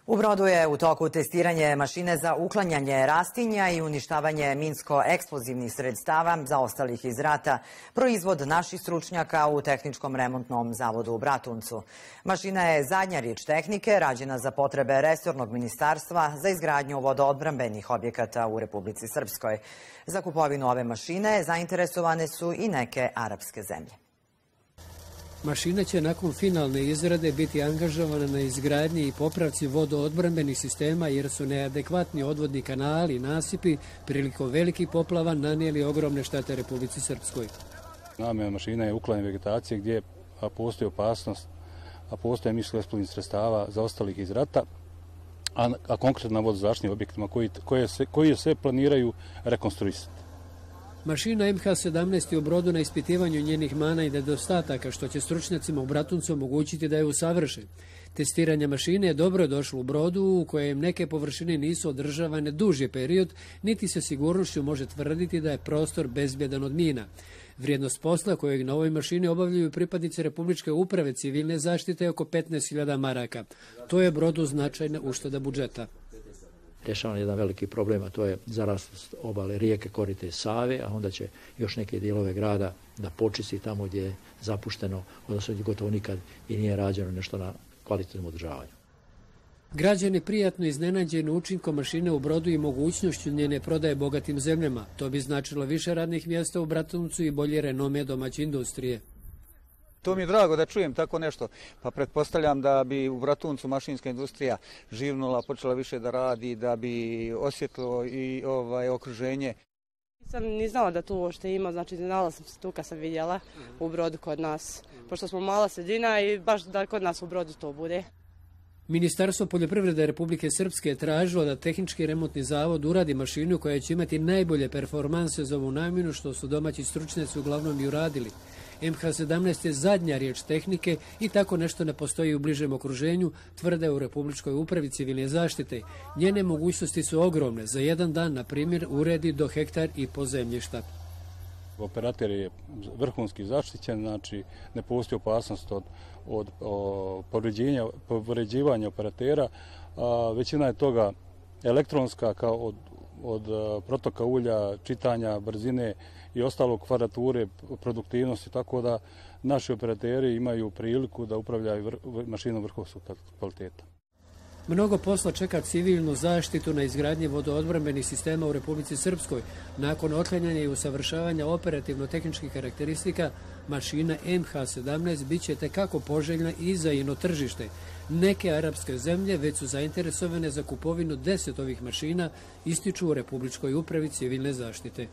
U Brodu je u toku testiranje mašine za uklanjanje rastinja i uništavanje minsko-eksplozivnih sredstava zaostalih iz rata, proizvod naših stručnjaka u Tehničkom remontnom zavodu u Bratuncu. Mašina je zadnja riječ tehnike, rađena za potrebe resornog ministarstva za izgradnju vodoodbrambenih objekata u Republici Srpskoj. Za kupovinu ove mašine zainteresovane su i neke arapske zemlje. Mašina će nakon finalne izrade biti angažovana na izgradnji i popravci vodoodbrambenih sistema jer su neadekvatni odvodni kanali i nasipi prilikom velikih poplava nanijeli ogromne štete Republici Srpskoj. Namjena mašina je uklanjanje vegetacije gdje postoji opasnost, a postoje minsko-eksplozivnih sredstava zaostalih iz rata, a konkretno na vodozaštitnim objektima koji sve planiraju rekonstruisati. Mašina MH17 je u Brodu na ispitivanju njenih mana i nedostataka, što će stručnjacima u Bratuncu omogućiti da je usavrše. Testiranje mašine je dobro došlo u Brodu, u kojem neke površine nisu održavane duži period, niti se sigurnošću može tvrditi da je prostor bezbjedan od mina. Vrijednost posla kojeg na ovoj mašini obavljaju pripadnici Republičke uprave civilne zaštite je oko 15.000 maraka. To je Brodu značajna ušteda budžeta. Rješavan jedan veliki problem, a to je zaraslost obale rijeke Korite i Save, a onda će još neke dijelove grada da počisti tamo gdje je zapušteno, odnosno gdje gotovo nikad i nije rađeno nešto na kvalitetnom održavanju. Građani prijatno iznenađeni učinkom mašine u Brodu i mogućnošću njene prodaje bogatim zemljama. To bi značilo više radnih mjesta u Bratuncu i bolje renome domaće industrije. To mi je drago da čujem tako nešto, pa pretpostavljam da bi u Bratuncu mašinska industrija živnula, počela više da radi, da bi osjetilo i okruženje. Nisam ni znala da tu uopšte ima, znači znala sam se tu kad sam vidjela u Brodu kod nas, pošto smo mala sredina i baš da kod nas u Brodu to bude. Ministarstvo poljoprivrede Republike Srpske je tražilo da Tehnički remontni zavod uradi mašinu koja će imati najbolje performanse za ovu namjenu, što su domaći stručnjaci uglavnom i uradili. MH17 je zadnja riječ tehnike i tako nešto ne postoji u bližem okruženju, tvrde u Republičkoj upravi civilne zaštite. Njene mogućnosti su ogromne. Za jedan dan, na primjer, uredi do hektar i po zemljišta. Operater je vrhunski zaštićen, znači ne postoji opasnost od povređivanja operatera. Većina je toga elektronska, kao od protoka ulja, čitanja, brzine i ostalog, kvadrature, produktivnosti, tako da naši operateri imaju priliku da upravljaju mašinom vrhunskog kvaliteta. Mnogo posla čeka civilnu zaštitu na izgradnji vodoodbrambenih sistema u Republici Srpskoj. Nakon otklanjanja i usavršavanja operativno-tehničkih karakteristika, mašina MH17 bit će tekako poželjna i za ino tržište. Neke arapske zemlje već su zainteresovane za kupovinu 10 ovih mašina, ističu u Republičkoj upravi civilne zaštite.